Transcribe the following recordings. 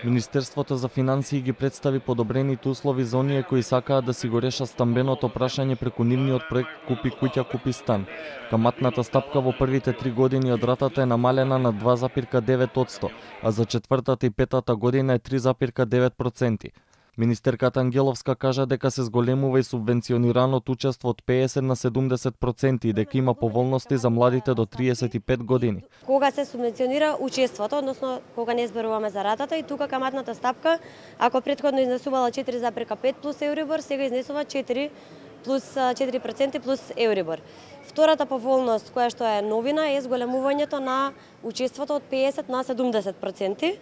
Министерството за финансии ги представи подобрените услови за оние кои сакаат да си го решат стамбеното прашање преку нивниот проект Купи куќа, купи стан. Каматната стапка во првите 3 години од ратата е намалена на 2,9%, а за четвртата и петата година е 3,9%. Министерката Ангеловска кажа дека се зголемува и субвенционираното учество од 50 на 70% и дека има поволности за младите до 35 години. Кога се субвенционира учеството, односно кога не зборуваме за ратата, и тука каматната стапка, ако претходно изнесувала 4,5 плюс Еурибор, сега изнесува 4 плюс 4% плюс Еурибор. Втората поволност, која што е новина, е зголемувањето на учеството од 50 на 70%.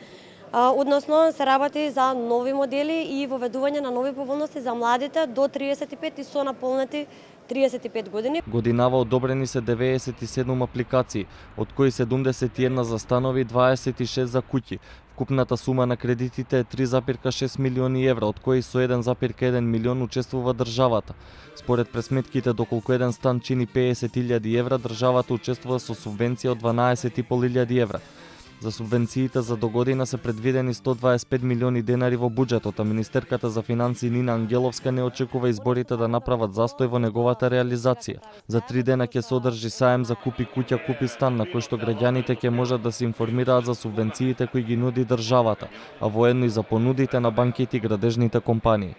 Односно се работи за нови модели и воведување на нови поволности за младите до 35 и со наполнети 35 години. Годинава одобрени се 97 апликации, од кои 71 за станови и 26 за куќи. Вкупната сума на кредитите е 3,6 милиони евра, од кои со 1,1 милион учествува државата. Според пресметките, доколку еден стан чини 50.000 евра, државата учествува со субвенција од 12.500 евра. За субвенциите за догодина се предвидени 125 милиони денари во буџетот, а министерката за финансии Нина Ангеловска не очекува изборите да направат застој во неговата реализација. За 3 дена ќе се одржи саем за Купи куќа, купи стан, на кој што граѓаните ќе можат да се информираат за субвенциите кои ги нуди државата, а воедно и за понудите на банките и градежните компании.